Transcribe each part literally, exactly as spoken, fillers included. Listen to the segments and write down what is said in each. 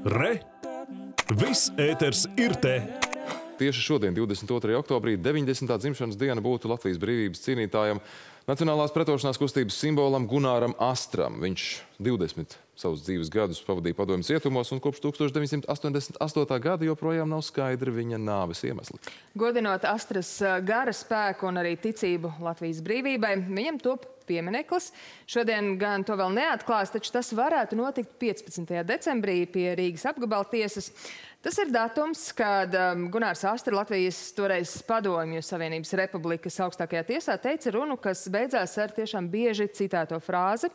Re! Viss ēters ir te! Tieši šodien, divdesmit otrajā oktobrī, deviņdesmitā dzimšanas diena būtu Latvijas brīvības cīnītājam, Nacionālās pretošanās kustības simbolam Gunaram Astram. Viņš divdesmit savus dzīves gadus pavadīja padomju cietumos un kopš tūkstoš deviņsimt astoņdesmit astotā gada joprojām nav skaidri viņa nāves iemesli. Godinot Astras gara spēku un arī ticību Latvijas brīvībai, viņam top piemineklis. Šodien gan to vēl neatklās, taču tas varētu notikt piecpadsmitajā decembrī pie Rīgas apgabala tiesas. Tas ir datums, kad um, Gunārs Astra, Latvijas toreiz Padomju Savienības Republikas augstākajā tiesā, teica runu, kas beidzās ar tiešām bieži citēto frāzi: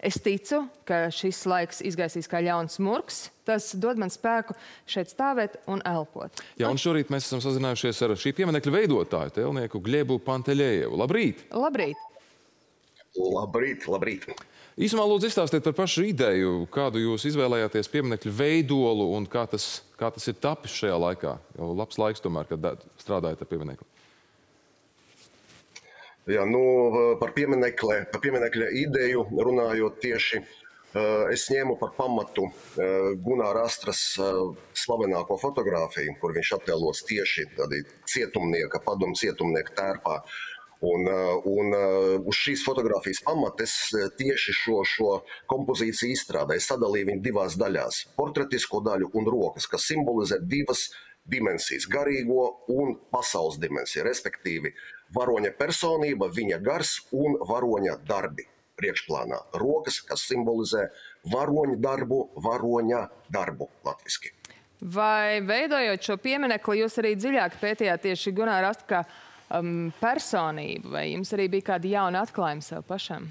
"Es ticu, ka šis laiks izgaisīs kā ļauns murgs. Tas dod man spēku šeit stāvēt un elpot." Jā, un šorīt mēs esam sazinājušies ar šī pieminekļa veidotāju, tēlnieku Gļebu Pantelējevu. Labrīt! Labrīt! Labrīt, labrīt! Īsumā lūdzu izstāstiet par pašu ideju, kādu jūs izvēlējāties pieminekļu veidolu un kā tas, kā tas ir tapis šajā laikā. Jau labs laiks tomēr, kad strādājat ar pieminekli. Jā, nu, par pieminekļa, par pieminekļa ideju runājot tieši, es ņēmu par pamatu Gunāra Astras slavenāko fotogrāfiju, kur viņš attēlos tieši cietumnieka, padomu cietumnieka tērpā. Un, un uz šīs fotogrāfijas pamata es tieši šo, šo kompozīciju izstrādāju. Sadalīju viņu divās daļās – portretisko daļu un rokas, kas simbolizē divas dimensijas – garīgo un pasaules dimensiju, respektīvi varoņa personība, viņa gars un varoņa darbi priekšplānā. Rokas, kas simbolizē varoņa darbu, varoņa darbu latviski. Vai veidojot šo pieminekli, jūs arī dziļāk pētījāt tieši Gunāra Astra kā Um, personību, vai jums arī bija kādi jauni atklājumi sev pašam?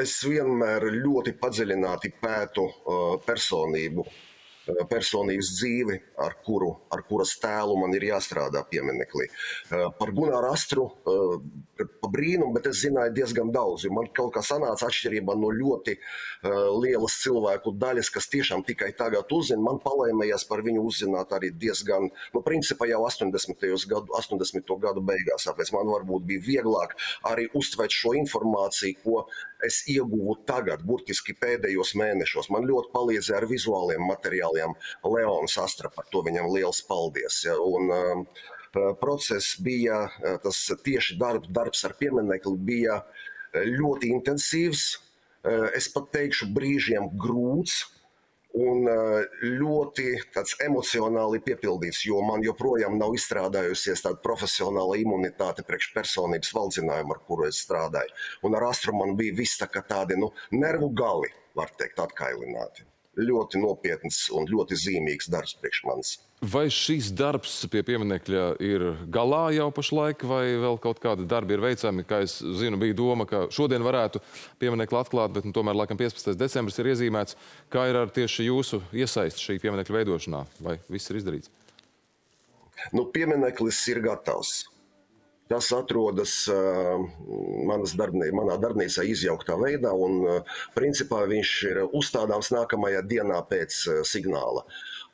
Es vienmēr ļoti padziļināti pētu uh, personību, uh, personības dzīvi, ar, kuru, ar kuras tēlu man ir jāstrādā pieminekli. Uh, par Gunāru Astru uh, pa brīnumu, bet es zināju diezgan daudz, jo man kaut kā sanāca atšķirībā no ļoti uh, lielas cilvēku daļas, kas tiešām tikai tagad uzzina. Man palēmējās par viņu uzzināt arī diezgan, nu, principā jau astoņdesmito gadu beigās, tāpēc man varbūt bija vieglāk arī uztvert šo informāciju, ko es ieguvu tagad, burtiski pēdējos mēnešos. Man ļoti palīdzēja ar vizuāliem materiāliem Leons Astra, par to viņam liels paldies. Ja, un, um, process bija, tas tieši darb, darbs ar pieminekli bija ļoti intensīvs, es pat teikšu brīžiem grūts un ļoti tāds emocionāli piepildīts, jo man joprojām nav izstrādājusies tāda profesionāla imunitāte priekš personības valdzinājumu, ar kuru es strādāju. Un ar Astru man bija viss tā kā tādi, nu, nervu gali, var teikt, atkailināti. Ļoti nopietns un ļoti zīmīgs darbs priekš manis. Vai šis darbs pie pieminekļa ir galā jau pašlaik, vai vēl kaut kādi darbi ir veicami? Kā es zinu, bija doma, ka šodien varētu pieminekli atklāt, bet nu, tomēr laikam piecpadsmitais decembris ir iezīmēts. Kā ir ar tieši jūsu iesaisti šī pieminekļa veidošanā? Vai viss ir izdarīts? Nu, piemineklis ir gatavs. Tas atrodas uh, manas darbnī, manā darbnīcā izjauktā veidā, un uh, principā viņš ir uzstādāms nākamajā dienā pēc uh, signāla.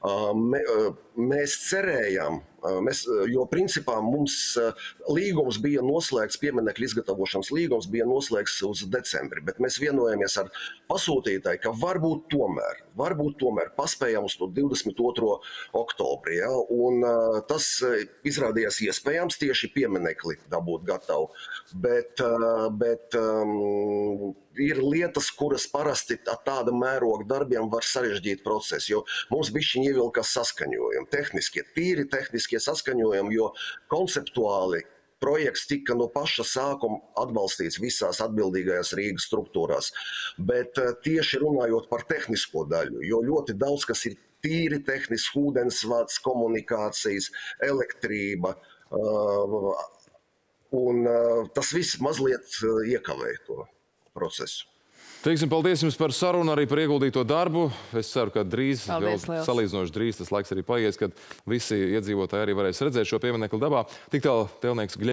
Uh, me, uh, mēs cerējām, uh, mēs, uh, jo principā mums uh, līgums bija noslēgts, pieminekļa izgatavošanas līgums bija noslēgts uz decembri, bet mēs vienojamies ar pasūtītāju, ka varbūt tomēr, varbūt tomēr paspējām uz to divdesmit otro oktobri, ja? Un uh, tas uh, izrādījās iespējams tieši pieminekli dabūt gatavu, bet, uh, bet um, ir lietas, kuras parasti ar tāda mēroga darbiem var sarežģīt procesu, jo mums bišķiņ ievilkās saskaņojumi, tehniskie, tīri tehniskie saskaņojumi, jo konceptuāli projekts tika no paša sākuma atbalstīts visās atbildīgajās Rīgas struktūrās, bet tieši runājot par tehnisko daļu, jo ļoti daudz, kas ir tīri tehniski, ūdensvads, komunikācijas, elektrība, uh, un uh, tas viss mazliet uh, iekavēja to procesu. Teiksim, paldies jums par sarunu, arī par ieguldīto darbu. Es ceru, ka drīz, paldies, vēl salīdzinoši drīz, tas laiks arī paies, kad visi iedzīvotāji arī varēs redzēt šo pieminekli dabā. Tik tālu tēlnieks Gļebu